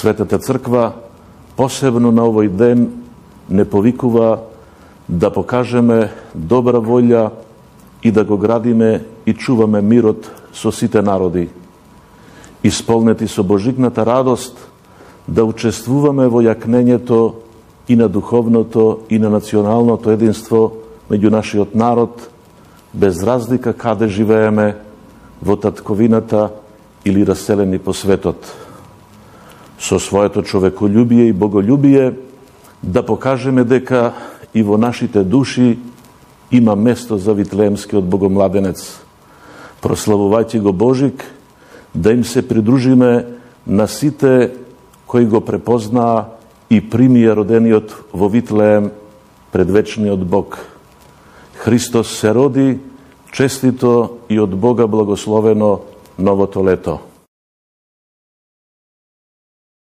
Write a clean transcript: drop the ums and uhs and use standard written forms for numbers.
Светата Црква посебно на овој ден не повикува да покажеме добра волја и да го градиме и чуваме мирот со сите народи. Исполнети со божигната радост да учествуваме во јакнењето и на духовното и на националното единство меѓу нашиот народ, без разлика каде живееме, во татковината или раселени по светот. Со своето човеколюбие и боголюбие да покажеме дека и во нашите души има место за Витлеемскиот богомладенец. Прославувајќи го Божик, да им се придружиме на сите кои го препознаа и примија родениот во Витлеем предвечниот Бог. Христос се роди, честито и од Бога благословено новото лето.